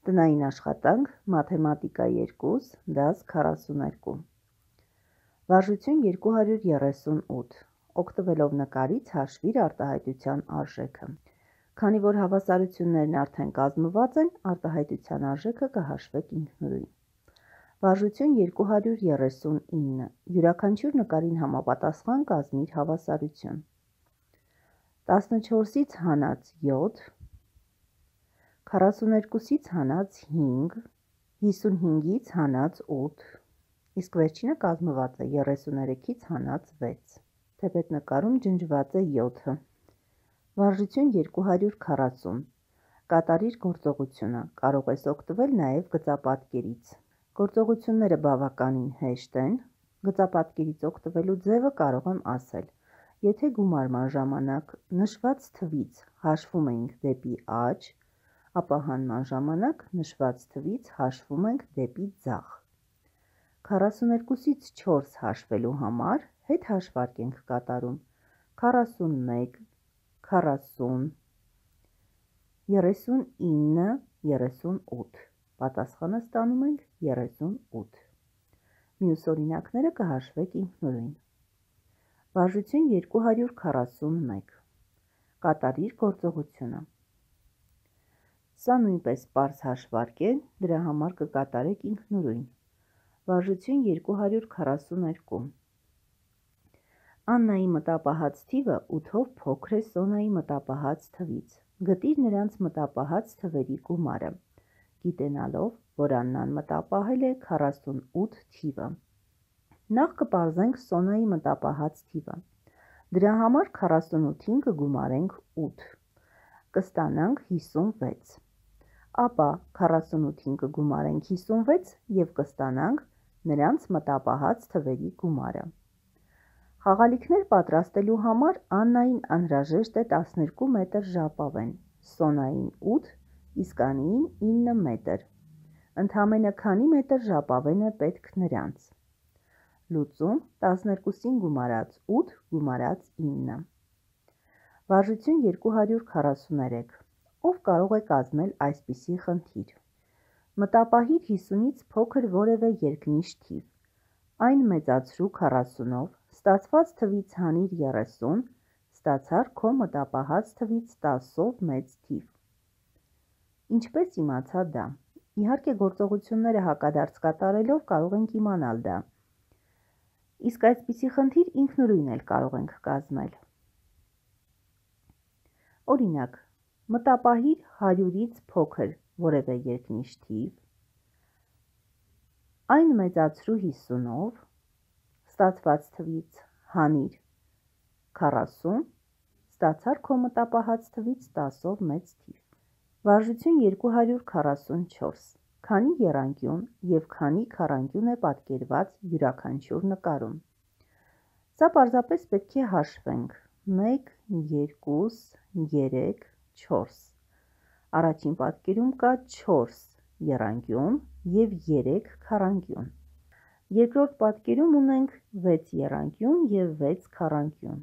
Տնային աշխատանք, մաթեմատիկա 2, դաս 42։ Վարժություն 238, օգտվելով նկարից հաշվիր արտահայտության արժեքը։ Քանի որ հավասարություններն արդեն կազմված են, արտահայտության արժեքը կհաշվեք ինքնուրույն։ Վարժություն 239, յուրաքանչյուր նկարին համապատասխան կազմիր հավասարություն։ 14-ից հանած 7, 42-ից հանած 5, 55-ից հանած 8, իսկ վերջինը կազմված է 33-ից հանած 6, թեպետ նկարում ջնջված է 7-ը։ Վարժություն 240, կատարիր գործողությունը, կարող ես օգտվել նաև գծապատկերից։ Գործողությունները բավականին հեշտ են, գծապատկերից օգտվելու ձևը կարող եմ ասել։ Եթե գումարման ժամանակ նշված թվից հաշվում ենք դեպի աջ, ապա հանման ժամանակ նշված թվից հաշվում ենք դեպի ձախ։ 42-ից 4 հաշվելու համար հետ հաշվարկ ենք կատարում 41, 40, 39, 38, պատասխանը ստանում ենք 38։ Մյուս օրինակները կհաշվեք ինքնուրույն։ Վարժություն 241, կատարիր գործողությունը։ Սա նույնպես պարզ հաշվարկ է, դրա համար կկատարեք ինքնուրույն։ Վարժություն 242, Աննայի մտապահած թիվը 8-ով փոքր է Սոնայի մտապահած թվից։ Գտիր նրանց մտապահած թվերի գումարը, գիտենալով, որ Աննան մտապահել է 48 թիվը։ Նախ կպարզենք Սոնայի մտապահած թիվը։ Դրա համար 48-ին կգումարենք 8, կստանանք 56, ապա 48-ին կգումարենք 56 և կստանանք նրանց մտապահած թվերի գումարը։ Խաղալիքներ պատրաստելու համար Աննային անհրաժեշտ է 12 մետր ժապավեն, Սոնային 8, իսկ Անիին 9 մետր։ Ընդամենը քանի մետր ժապավեն է պետք նրանց։ Լուծում 12-ին գումարած 8 գումարած 9։ Վարժություն 243, ով կարող է կազմել այսպիսի խնդիր։ Մտապահիր 50-ից փոքր որևէ երկնիշ թիվ, այն մեծացրու 40-ով, ստացված թվից հանիր 30, ստացար քո մտապահած թվից 10-ով մեծ թիվ։ Ինչպես իմացա դա։ Իհարկե գործողությունները հակադարձ կատարելով կարող ենք իմանալ դա։ Իսկ այսպիսի խնդիր ինքնուրույն էլ կարող ենք կազմել։ Օրինակ, մտապահիր 100-ից փոքր որևէ երկնիշ թիվ, այն մեծացրու 50-ով, ստացված թվից հանիր 40, ստացար քո մտապահած թվից 10-ով մեծ թիվ։ Վարժություն 244, քանի եռանկյուն և քանի քառանկյուն է պատկերված յուրաքանչյուր նկարում։ Սա պարզապես պետք է հաշվենք 1, 2, 3, 4։ Առաջին պատկերում կա 4 եռանկյուն և 3 քառանկյուն։ Երկրորդ պատկերում ունենք 6 եռանկյուն և 6 քառանկյուն։